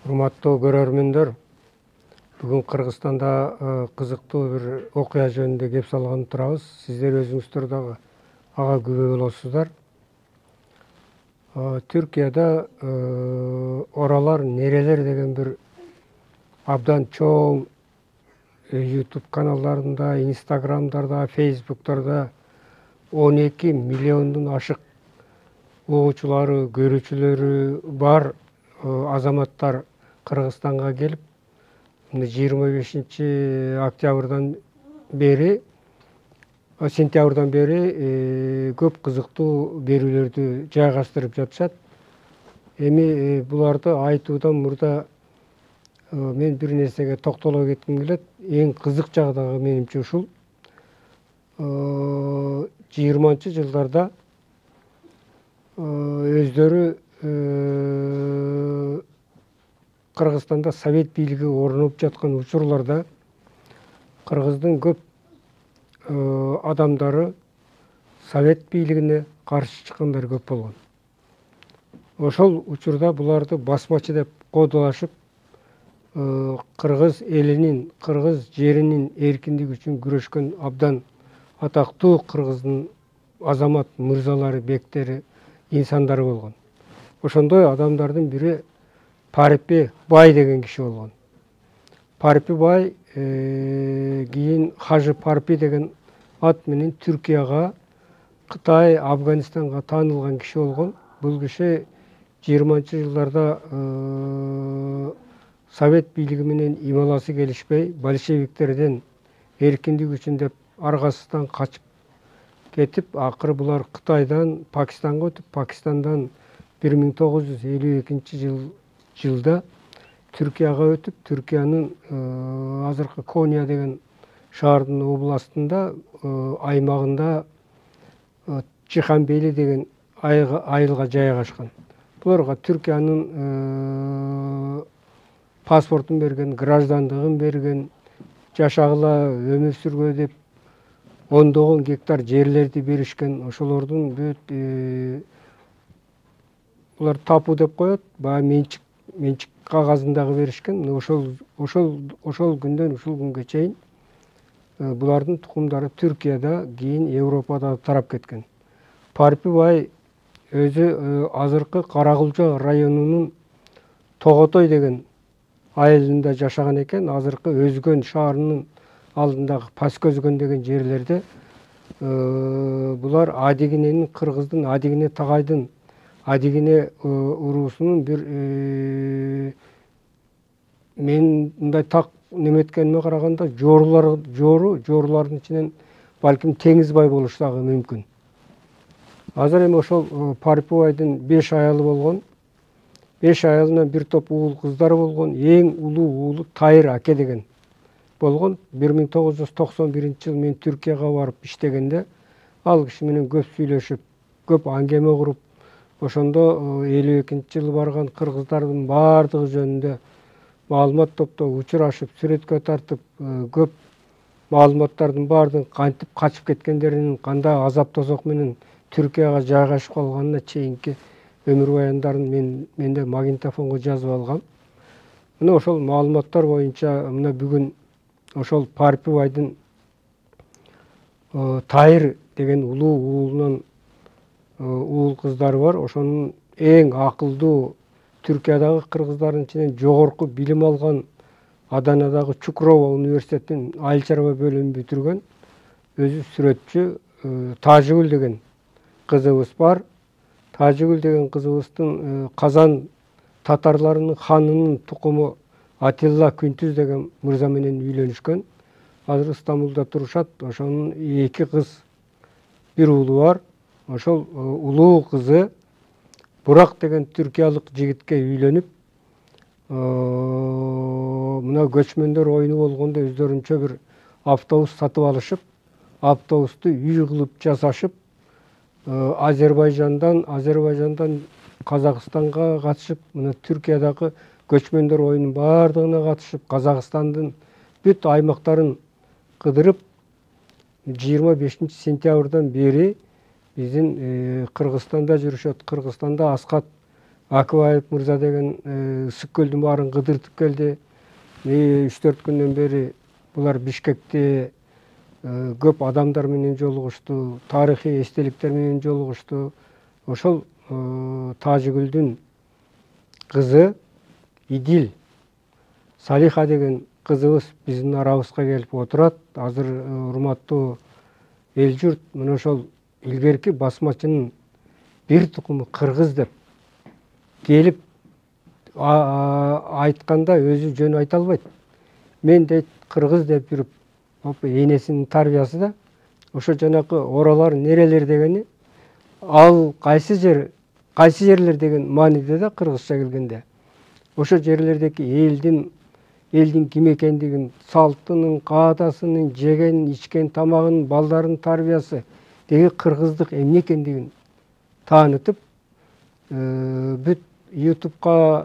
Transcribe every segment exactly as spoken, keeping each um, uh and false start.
Урматтуу көрөрмөндөр, бүгүн Кыргызстанда кызыктуу бир окуя жөнүндө кеп салган турабыз. Сиздер өзүңүздөр дагы ага күбө болосуздар. Түркияда Оралар нерелер деген бир абдан чоң YouTube каналдарында, Instagramдарда, Facebook'торда он эки миллиондун ашык угуучулары, көрүүчүлөрү бар азаматтар Кыргызстанга келип, жыйырма бешинчи октябрдан бери, сентябрдан бери көп кызыктуу берүүлөрдү жайгаштырып жатышат. Эми буларды айтуудан мурда мен бир нерсеге токтоло кетким келет. Эң кызык жагдагы менимче ушул. жыйырманчы жылдарда өздөрү Кыргызстанда совет бийлиги орноп жаткан учурларда Кыргыздын көп адамдары совет бийлигине каршы чыккандар көп болгон. Ошол учурда буларды басмачы деп кодолошуп, Кыргыз элинин, Кыргыз жеринин эркиндиги үчүн күрөшкөн абдан атактуу Кыргыздын азамат мырзалары, бектери, инсандары болгон. Ошондой адамдардын бири Парпи Бай деген киши болгон. Парпи Бай кийин Хажы Парпи деген ат менен Түркияга, Кытай, Афганистанга таанылган киши болгон. Бул киши жыйырманчы жылдарда совет бийлиги менен ималасы келишпей, большевиктерден эркиндик үчүн деп аргасыздан качып кетип, акыры булар Кытайдан Пакистанга өтүп, Пакистандан бир миң тогуз жүз элүү экинчи жылда Түркияга өтүп, Түркиянын азыркы Кония деген шаардын областында, аймагында Чиханбели деген айылга жайгашкан. Буларга Түркиянын паспортун берген, граждандыгын берген, жашагыла, өмүр сүргүлө деп ондогон гектар жерлерди беришкен. Ошолордун бүт булар тапуу деп коет, баягы менчик менчик кагазын дагы беришкен. Ошол ошол ошол күндөн ушул күнгө чейин булардын тукумдары Түркияда, кийин Европада тарап кеткен. Парпи Бай өзү азыркы Каракулча районунун Тоготой деген айылында жашаган экен. Азыркы Өзгөн шаарынын алдындагы Паскөзгөн деген жерлерде булар Адигиненин, Кыргыздын Адигине Тагайдын Адигине уруусунун бир мен мындай так неметкениме караганда жоорулар жоору жоорулардын ичинен балким Теңиз Бай болушу дагы мүмкүн. Азыр эми ошол Парпи Байдын беш аялы болгон. Беш аялынан бир топ уул кыздары болгон. Эң улуу уулу Тайыр Аке деген болгон. бир миң тогуз жүз токсон биринчи жылы мен Түркияга барып иштегенде ал киши менен көп сүйлөшүп, көп аңгеме куруп, ошондо элүү экинчи жылы барган кыргыздардын баардыгы жөнүндө маалымат топтоп, учурашып, сүрөткө тартып, көп маалыматтардын баардыгын кантип качып кеткендерин, кандай азап тозок менен Түркияга жайгашып калганына чейинки өмүр баяндарын мен менде магнитофонго жазып алгам. Мына ошол маалыматтар боюнча мына бүгүн ошол Парпи Байдын Тайыр деген улуу уулунан уул кыздары бар. Ошонун эң акылдуу Түркиядагы кыргыздардын ичинен жогорку билим алган Аданадагы Чукрова университетинин айыл чарба бөлүмүн бүтүргөн өзү сүрөтчү Тажыгүл деген кызыбыз бар. Тажыгүл деген кызыбыздын Казан татарларынын ханынын тукуму Атилла Күнтүз деген мырза менен үйлөнүшкөн. Азыр Стамбулда турушат. Ошонун эки кыз, бир уулу бар. Ошол улуу кызы Бурак деген түркиялык жигитке үйлөнүп, мына көчмөндөр оюну болгондо өздөрүнчө бир автобус сатып алышып, автобусту үй кылып жасашып, Азербайжандан Азербайжандан Казакстанга катышып, мына Түркиядагы көчмөндөр оюнунун баардыгына катышып, Казакстандын бүт аймактарын кыдырып, жыйырма бешинчи сентябрдан бери биздин Кыргызстанда жүрүшөт. Кыргызстанда Аскат Акыбаев мырза деген ысык көлдүн баарын кыдыртып келди. үч төрт күндөн бери булар Бишкекте көп адамдар менен жолугушту, тарыхый эстеликтер менен жолугушту. Ошол Тажигүлдүн кызы Идил Салиха деген кызыбыз биздин арабызга келип отурат. Азыр урматтуу эл журт, мына ошол илгерки басмачынын бир тукуму кыргыз деп келип айтканда өзү жөн айта албайт. Мен дейт кыргыз деп жүрүп, энесинин тарбиясы да. Ошо жанакы оралар нерелер дегени ал кайсы жер, кайсы жерлер деген мааниде да кыргызча келгенде. Ошо жерлердеги элдин элдин ким экендигин, салтынын, каадасынын, жеген, ичкен тамагынын, балдардын тарбиясы деги кыргыздык эмне экендигин таанытып, бүт ютубка,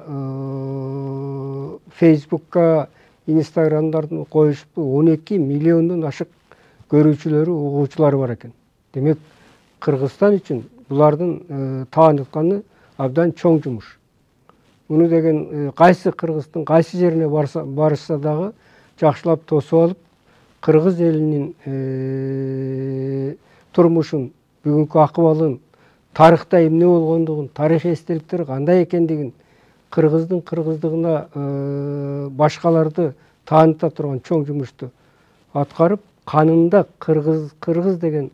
фейсбукка, инстаграмдардын коюшуп он эки миллиондон ашык көрүүчүлөрү, угуучулары бар экен. Демек, Кыргызстан үчүн булардын таанытканы абдан чоң жумуш. Муну деген кайсы кыргыздын кайсы жерине барышса дагы жакшылап тосуп алып, кыргыз элинин турмушун, бүгүнкү акыбалын, тарыхта эмне болгондугун, тарыхый эстеликтер кандай экендигин, кыргыздын кыргыздыгына башкаларды тааныта турган чоң жумушту аткарып, канында кыргыз кыргыз деген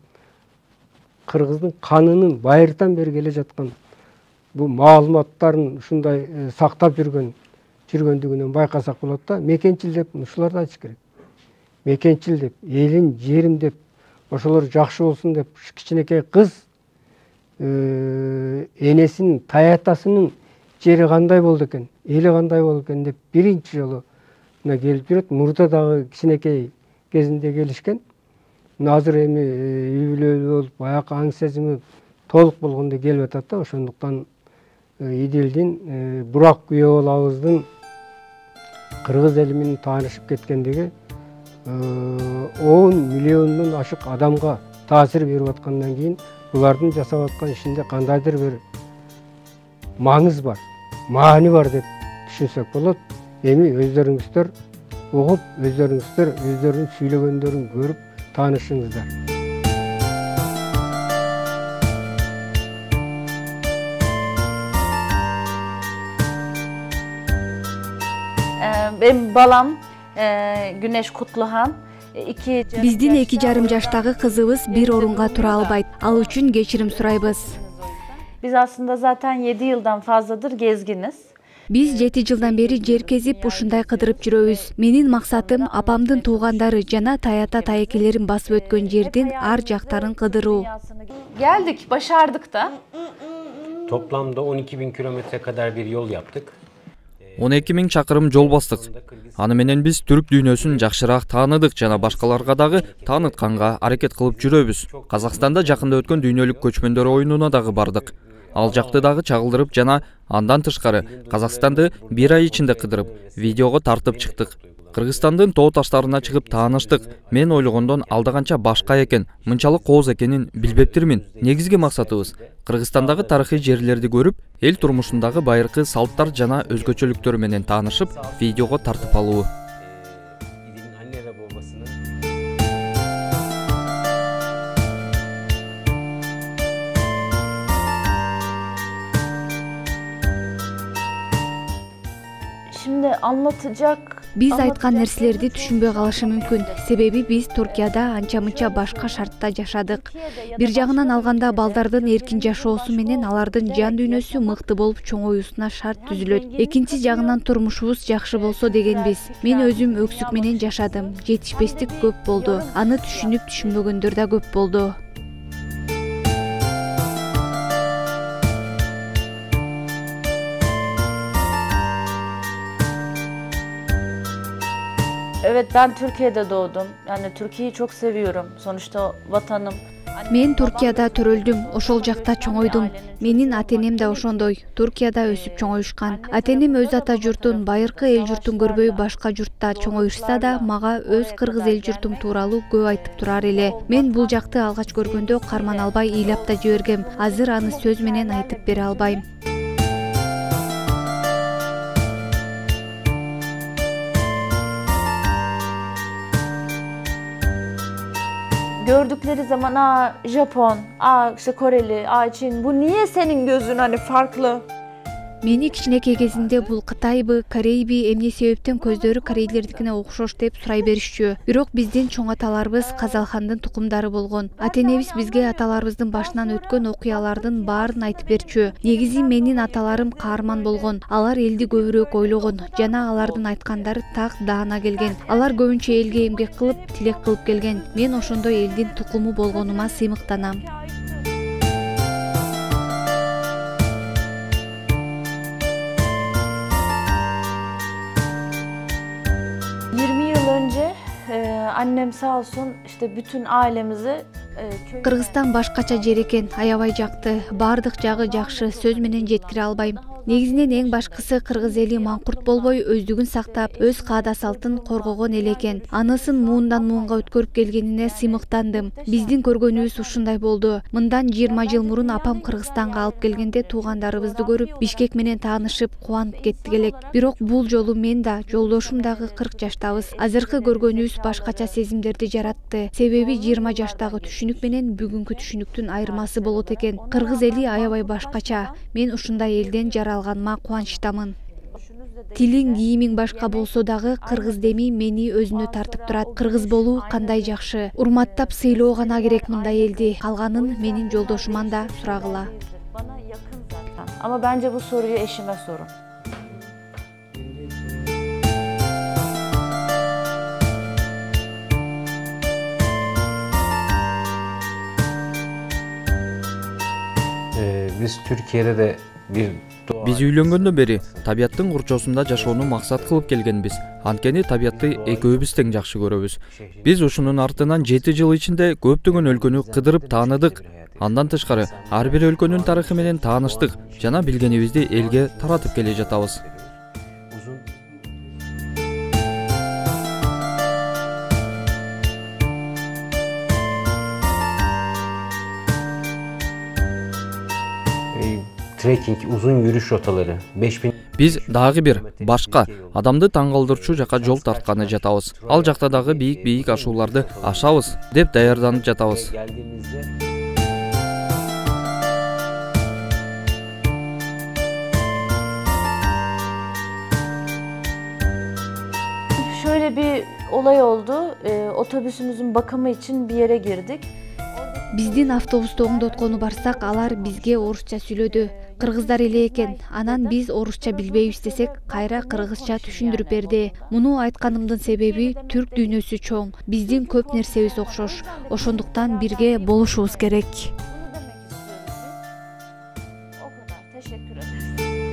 кыргыздын канынын байыртан бери келе жаткан бул маалыматтарын ушундай сактап жүргөн жүргөндүгүнөн байкасак болот да. Мекенчил деп ушуларды айтыш керек. Мекенчил деп, элим, жерим деп, ошолор жакшы болсун деп, кичинекей кыз энесинин, таятасынын жери кандай болду экен, эли кандай болду экен деп биринчи жолу мына келип жүрөт. Мурда дагы кичинекей кезинде келишкен. Азыр эми үй бүлөлүү болуп, баягы аң сезими толук болгондо келип атат да. Ошондуктан Идилдин Бурак күйөө балабыздын кыргыз эли менен таанышып кеткендиги он миллиондон ашык адамга таасир берип аткандан кийин булардын жасап аткан ишинде кандайдыр бир маңыз бар, маани бар деп түшүнсөк болот. Эми өздөрүңүздөр угуп, өздөрүңүздөр өздөрүнүн сүйлөгөндөрүн көрүп таанышыңыздар. Benim balam Güneş Kutluhan. Биздин эки жарым жаштагы кызыбыз бир орунга тура албайт. Ал үчүн кечирим сурайбыз. Biz aslında zaten yedi yıldan fazladır gezginiz. Биз жети жылдан бери жер кезип ушундай кыдырып жүрөбүз. Менин максатым апамдын туугандары жана таята таекелерин басып өткөн жердин ар жактарын кыдыруу. Geldik, başardık da. Toplamda on iki bin kilometre kadar bir yol yaptık. он эки миң чакырым жол бастык. Аны менен биз түрк дүйнөсүн жакшыраак тааныдык жана башкаларга дагы таанытканга аракет кылып жүрөбүз. Казакстанда жакында өткөн дүйнөлүк көчмөндөр оюнуна дагы бардык. Ал жакты дагы чагылдырып жана андан тышкары Казакстанды бир ай ичинде кыдырып, видеого тартып чыктык. Кыргызстандын тоо таштарына чыгып тааныштык. Мен ойлогондон алда канча башка экен, мынчалык кооз экенин билбептирмин. Негизги максатыбыз Кыргызстандагы тарыхый жерлерди көрүп, эл турмушундагы байыркы салттар жана өзгөчөлүктөр менен таанышып, видеого тартып алуу. Şimdi anlatacak Биз айткан нерселерди түшүнбөй калышы мүмкүн. Себеби биз Туркияда анча-мынча башка шартта жашадык. Бир жагынан алганда балдардын эркин жашоосу менен алардын жан дүйнөсү мыкты болуп чоңоюусуна шарт түзүлөт. Экинчи жагынан турмушубуз жакшы болсо дегенбиз. Мен өзүм өксүк менен жашадым. Жетишпестик көп болду. Аны түшүнүп түшүнбөгөндөр да көп болду. Evet, ben Türkiye'de doğdum. Yani Türkiye'yi çok seviyorum. Sonuçta vatanım. Мен Туркияда төрөлдүм, ошол жакта чоңойдум. Менин ата-энем да ошондой, Туркияда өсүп чоңоюшкан. Ата-энем өз ата журтун, байыркы эл журтун көрбөй башка журтта чоңоюшса да, мага өз кыргыз эл журтум тууралуу көп айтып турар эле. Мен бул жакты алгач көргөндө карман албай ыйлап да жибергем. Азыр аны сөз менен айтып бере албайм. gördükleri zaman aa Japon, aa işte Koreli, aa Çin, bu niye senin gözün hani farklı? Мени кичинекей кезинде бул Кытайбы, Корейби, эмне себептен көздөрү корейлердикине окшош деп сурай беришчү. Бирок биздин чоң аталарыбыз Казалхандын тукумдары болгон. Ата-энебиз бизге аталарыбыздын башынан өткөн окуялардын баарын айтып берчү. Негизи менин аталарым каарман болгон. Алар элди көбүрөөк ойлогон жана алардын айткандары так даана келген. Алар көбүнчө элге эмгек кылып, тилек кылып келген. Мен ошондой элдин тукуму болгонума сыймыктанам. yirmi yıl önce e, annem sağ olsun işte bütün ailemizi e, Кыргызстан башкача жер экен, аябай жакты. Бардык жагы жакшы, сөз менен жеткире албайм. Негизинен эң башкысы кыргыз эли маңкурт болбой, өздүгүн сактап, өз каада салтын коргогон эл экен. Анысын муундан муунга өткөрүп келгенине сыймыктандым. Биздин көргөнүбүз ушундай болду. Мындан жыйырма жыл мурун апам Кыргызстанга алып келгенде туугандарыбызды көрүп, Бишкек менен таанышып, кубанып кеттик элек. Бирок бул жолу мен да, жолдошум дагы кырк жаштабыз. Азыркы көргөнүбүз башкача сезимдерди жаратты. Себеби жыйырма жаштагы түшүнүк менен бүгүнкү түшүнүктүн айырмасы болот экен. Кыргыз эли аябай башкача. Мен ушундай элден жаралганыма кубанычтамын. Тилиң, кийимиң башка болсо дагы кыргыз деми мени өзүнө тартып турат. Кыргыз болуу кандай жакшы. Урматтап сыйлоо гана керек мындай элди. Калганын менин жолдошуман да сурагыла. bana yakın zaten. Ama bence bu soruyu eşime sorun. Ee, biz Türkiye'de de bir Биз үйлөнгөндөн бери табияттын курчоосунда жашоону максат кылып келгенбиз. Анткени табиятты экөөбүз тең жакшы көрөбүз. Биз ушунун артынан жети жыл ичинде көптөгөн өлкөнү кыдырып тааныдык. Андан тышкары ар бир өлкөнүн тарыхы менен тааныштык жана билгенибизди элге таратып келе жатабыз. Trekking, uzun yürüyüş rotaları beş bin Биз дагы бир башка адамды таң калтырчу жака жол тартканы жатабыз. Ал жакта дагы бийик-бийик ашууларды ашабыз деп даярданып жатабыз. Şöyle bir olay oldu. Ee, otobüsümüzün bakımı için bir yere girdik. Биздин автобусту оңдоткону барсак, алар бизге орусча сүйлөдү. Кыргыздар эле экен. Анан биз орусча билбейбиз десек, кайра кыргызча түшүндүрүп берди. Муну айтканымдын себеби түрк дүйнөсү чоң. Биздин көп нерсебиз окшош. Ошондуктан бирге болушубуз керек. Bunu demek istiyoruz biz. O kadar. Teşekkür ederiz.